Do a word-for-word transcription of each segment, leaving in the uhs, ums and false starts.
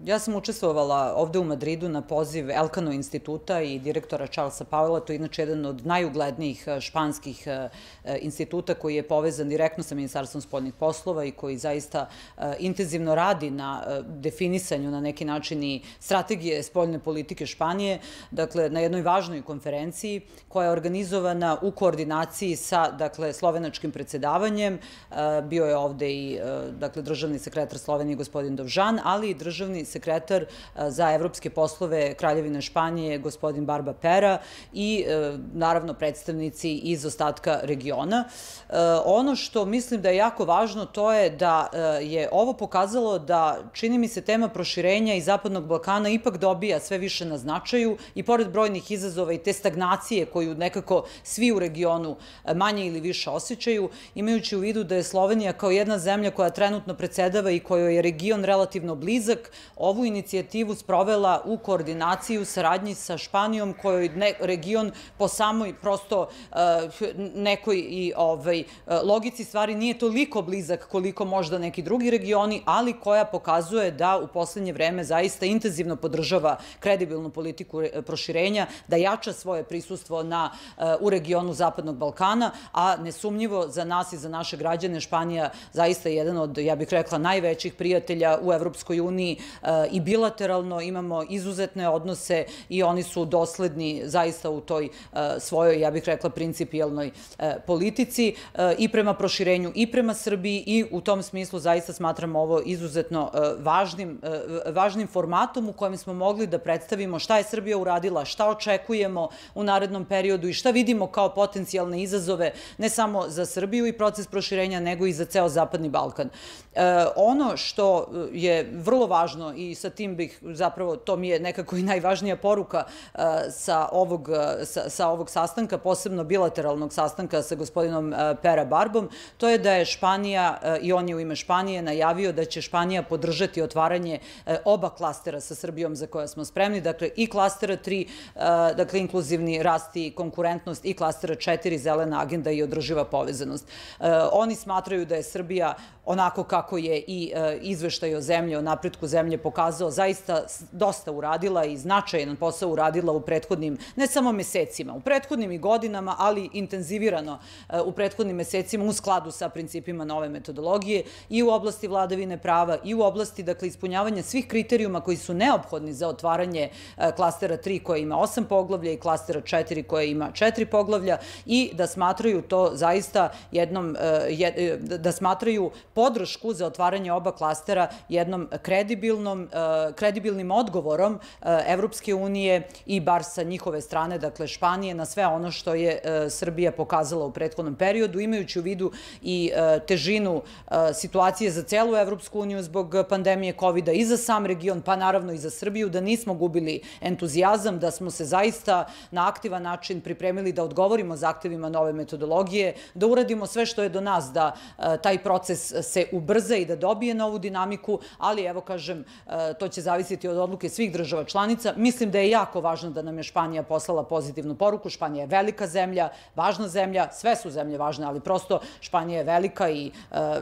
Ja sam učestvovala ovde u Madridu na poziv Elkano instituta i direktora Charlesa Pauela, to je inače jedan od najuglednijih španskih instituta koji je povezan direktno sa Ministarstvom spoljnih poslova i koji zaista intenzivno radi na definisanju na neki način i strategije spoljne politike Španije, dakle na jednoj važnoj konferenciji koja je organizovana u koordinaciji sa dakle, slovenačkim predsedavanjem. Bio je ovde i dakle, državni sekretar Slovenije gospodin Dovžan, ali i državni sekretar za evropske poslove Kraljevine Španije, gospodin Barba Pera i naravno predstavnici iz ostatka regiona. Ono što mislim da je jako važno to je da je ovo pokazalo da čini mi se tema proširenja i Zapadnog Balkana ipak dobija sve više na značaju i pored brojnih izazova i te stagnacije koju nekako svi u regionu manje ili više osjećaju, imajući u vidu da je Slovenija kao jedna zemlja koja trenutno predsedava i kojoj je region relativno blizak, ovu inicijativu sprovela u koordinaciji u saradnji sa Španijom, kojoj region po samoj prosto nekoj i logici stvari nije toliko blizak koliko možda neki drugi regioni, ali koja pokazuje da u poslednje vreme zaista intenzivno podržava kredibilnu politiku proširenja, da jača svoje prisustvo u regionu Zapadnog Balkana, a nesumnjivo za nas i za naše građane Španija zaista je jedan od, ja bih rekla, najvećih prijatelja u Evropskoj uniji i bilateralno imamo izuzetne odnose i oni su dosledni zaista u toj svojoj, ja bih rekla, principijelnoj politici i prema proširenju i prema Srbiji i u tom smislu zaista smatramo ovo izuzetno važnim formatom u kojem smo mogli da predstavimo šta je Srbija uradila, šta očekujemo u narednom periodu i šta vidimo kao potencijalne izazove ne samo za Srbiju i proces proširenja, nego i za ceo Zapadni Balkan. Ono što je vrlo važno i sa tim bih zapravo, to mi je nekako i najvažnija poruka sa ovog, sa ovog sastanka, posebno bilateralnog sastanka sa gospodinom Pera Barbom, to je da je Španija, i on je u ime Španije najavio da će Španija podržati otvaranje oba klastera sa Srbijom za koja smo spremni, dakle i klastera tri, dakle inkluzivni rast i konkurentnost i klastera četiri, zelena agenda i održiva povezanost. Oni smatraju da je Srbija onako kako je i izveštaj o zemlji, o napretku zemlje pokazao, zaista dosta uradila i značajan posao uradila u prethodnim, ne samo mesecima, u prethodnim i godinama, ali intenzivirano u prethodnim mesecima u skladu sa principima nove metodologije i u oblasti vladavine prava i u oblasti, dakle, ispunjavanja svih kriterijuma koji su neophodni za otvaranje klastera tri koje ima osam poglavlja i klastera četiri koje ima četiri poglavlja i da smatraju to zaista jednom, da smatraju podršku za otvaranje oba klastera jednom kredibilnom, kredibilnim odgovorom Evropske unije i bar sa njihove strane, dakle Španije, na sve ono što je Srbija pokazala u prethodnom periodu, imajući u vidu i težinu situacije za celu Evropsku uniju zbog pandemije kovida i za sam region, pa naravno i za Srbiju, da nismo gubili entuzijazam, da smo se zaista na aktivan način pripremili da odgovorimo zahtevima nove metodologije, da uradimo sve što je do nas da taj proces se ubrza i da dobije novu dinamiku, ali evo kažem, to će zavisiti od odluke svih država članica. Mislim da je jako važno da nam je Španija poslala pozitivnu poruku. Španija je velika zemlja, važna zemlja, sve su zemlje važne, ali prosto Španija je velika i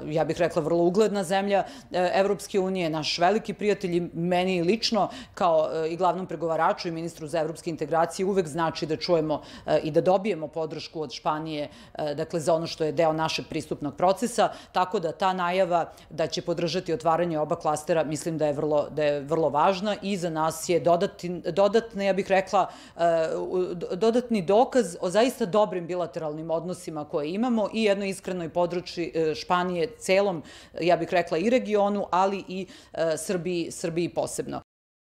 ja bih rekla vrlo ugledna zemlja Evropske unije, naš veliki prijatelj i meni lično kao i glavnom pregovaraču i ministru za evropske integracije uvek znači da čujemo i da dobijemo podršku od Španije, dakle za ono što je deo našeg pristupnog procesa, tako da ta najava da će podržati otvaranje oba klastera mislim da je vrlo, da je vrlo važna i za nas je dodatni, ja bih rekla, dodatni dokaz o zaista dobrim bilateralnim odnosima koje imamo i jednoj iskrenoj podršci Španije celom, ja bih rekla, i regionu, ali i Srbiji, Srbiji posebno.